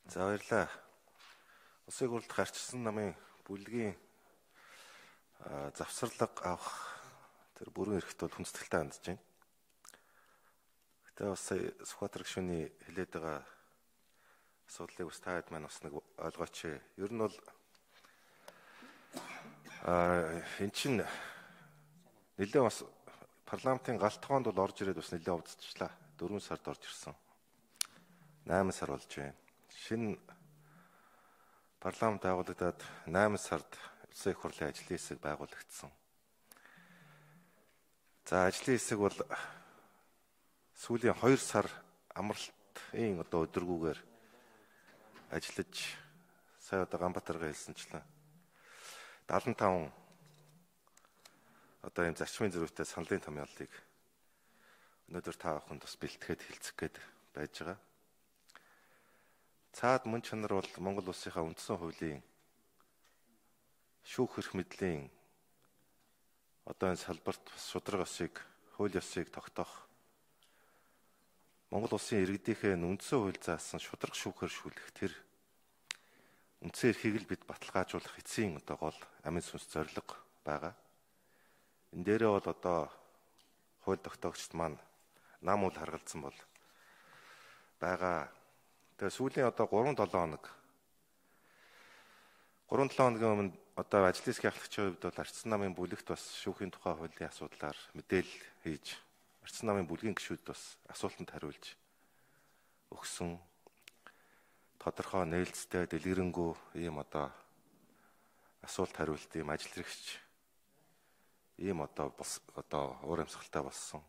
За баярлалаа. Улсын хурлд гарчсан намын бүлгийн завсарлага авах тэр бүрэн эрхт бол хүндэтгэлтэй хандж байна. Гэтэ бас Сүхбаатар гишүүний хэлээд байгаа асуудлыг бас таад маань бас нэг ойлгооч. Ер нь бол эн чинь нэлээд бас парламентын галт тоонд бол орж ирээд бас нэлээд увдчихлаа. 4 сард орж ирсэн. 8 сар болж байна. Шинэ парламент байгуулагдаад 8 сард улсын их хурлын ажлын хэсэг байгуулагдсан. За ажлын хэсэг бол сүүлийн 2 сар амралтын өдөргүүгээр ажиллаж сая Ганбаатарга хэлсэнчлэн 75 ийм зарчмын зөрүүтэй саналын томьёолыг өнөөдөр та бүхэнд бас бэлтгэхэд хэлцэх гээд байж байгаа. Цаад мөн чанар бол Монгол улсынхаа үндсэн хуулийн шүүх эрх мэдлийн энэ салбарт шударга ёсыг, хууль ёсыг тогтоох Монгол улсын иргэдийнхээ үндсэн хууль заасан шударга шүүхээр шүүлэх тэр үндсэн эрхийг л бид баталгаажуулах эцсийн гол амин сүнс зорилго байгаа. Энэ дээрээ бол хууль тогтоогчд маань нам үл харгалзсан бол байгаа. Тэгээ сүүлийн 3-7 хоног 3-7 хоногийн өмнө ажлын хэсгийн ахлагчийн хувьд бол Ардсан намын бүлэгт бас шүүхийн тухай хуулийн асуудлаар мэдээлэл хийж Ардсан намын бүлгийн гишүүд бас асуултанд хариулж өгсөн. Тодорхой нээлттэй дэлгэрэнгүй ийм асуулт хариулт ийм ажил хэрэгч ийм уур амьсгалтай болсон.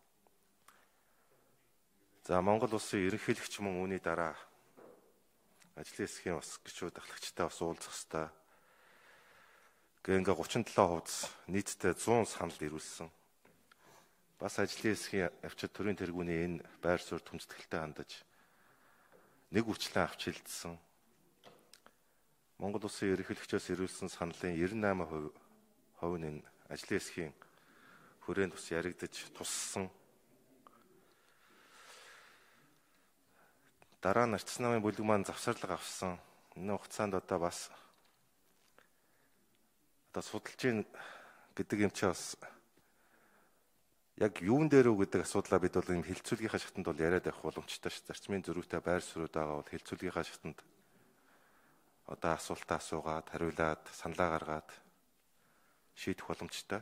За Монгол улсын ерөнхийлөгч мөн үүний дараа ажлын хэсгийн бас гишүүд ахлагчтай бас уулзах ёстой. Ингээ 37% нийтдээ 100 санал ирүүлсэн. Бас ажлын хэсгийн авчид төрийн тэргүүний энэ байр суурь хүндэтгэлтэй хандаж нэг үрчлэн авч хилдсэн. Монгол улсын ерөнхийлөгчөөс ирүүлсэн саналын 98% нь ажлын хэсгийн хүрээнд бас яригдаж туссан. Дараа нь Ардсан намын бүлэг маань завсарлага авсан. Энэ хугацаанд бас судалж ийн гэдэг юм чи бас яг юун дээр үү гэдэг асуудлаа бид бол энэ хилцүүлгийнхаа шатанд бол яриад авах боломжтой ш. Зарчмын зөрүүтэй байр суурьуд байгаа бол хилцүүлгийнхаа шатанд асуултаа асуугаад, хариулаад, саналаа гаргаад шийдэх боломжтой.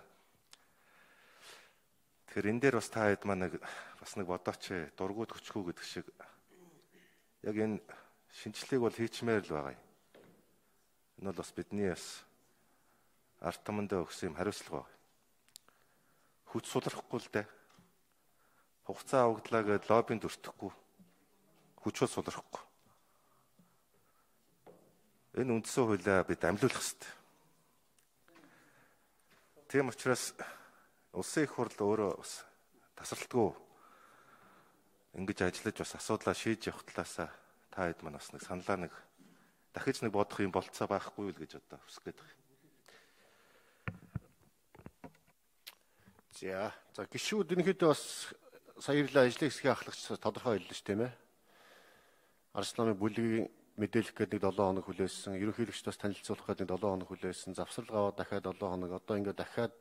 Тэгэхээр энэ дээр бас та хэд маань нэг бодооч дургуут хөчгүү гэдэг шиг яг энэ шинжлэлийг бол хийчмээр л байгаа юм. Энэ бол бас бидний бас ард түмэндээ өгсөн юм хариуцлага байна. Хүч сулрахгүй л дээ. Хугацаа авагдлаа гэд лоббинд өртөхгүй. Хүчөө сулрахгүй. Энэ үндсэн хуулиа бид амлиулах хэрэгтэй. Тийм учраас улсын их хурл өөрөө бас тасралтгүй ингэж ажиллаж бас асуудлаа шийдэж явах талаасаа та хэд маань бас нэг саналаа дахиж бодох юм болцоо байхгүй юу гэж хүсэх гээд байна. За гишүүд ерөнхийдөө бас саярлаа ажлын хэсгийн ахлагч тодорхой хэллээ ш тийм ээ. Ардсан намын бүлгийн мэдээлэх гэдэг 7 хоног хүлээсэн, ерөнхийлөгч бас танилцуулах гэдэг 7 хоног хүлээсэн, завсарлага аваад дахиад 7 хоног, ингээд дахиад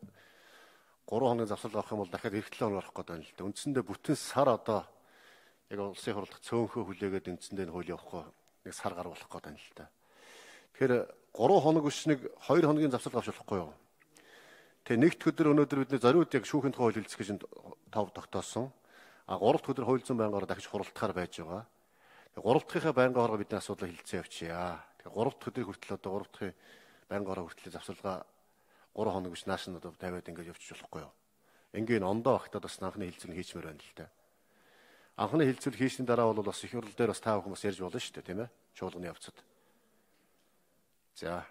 3 хоног завсарлага авах юм бол дахиад эх 7 хоног орох гэдэг байна л да. Үндсэндээ бүтэн сар яг улсын хурлах цөөнхөө хүлээгээд үндсэндээ энэ хууль явахгүй нэг сар гарах болох гэдэг байна л да. Тэгэхээр 3 хоног биш нэг 2 хоногийн завсарлага авч болохгүй юу? Тэгээ нэгд өдөр өнөөдөр бидний зориуд яг шүүхийн тухай хууль хэлцэх гэж тав тогтоосон. 3 дахь өдөр хууль зүйн байнгаараа дахиж хуралдахаар байж байгаа. 3 дахьынхаа байнгаараа бидний асуудлыг хэлцээ явчихъя. Тэгээ 3 дахь өдрийг хүртэл 3 дахьын байнгаараа хүртэл завсарлага 3 хоног биш нааш нь тавиад ингэж явчих болохгүй юу? Энгийн ондоо багтаад бас анхны хэлцүүрийг хийчмээр байна л да. Анхны хэлцүүлэг хийсний дараа бол бас их хурл дээр бас та бүхэн бас ярьж болно шүү дээ, тийм ээ? Чуулганы явцад. За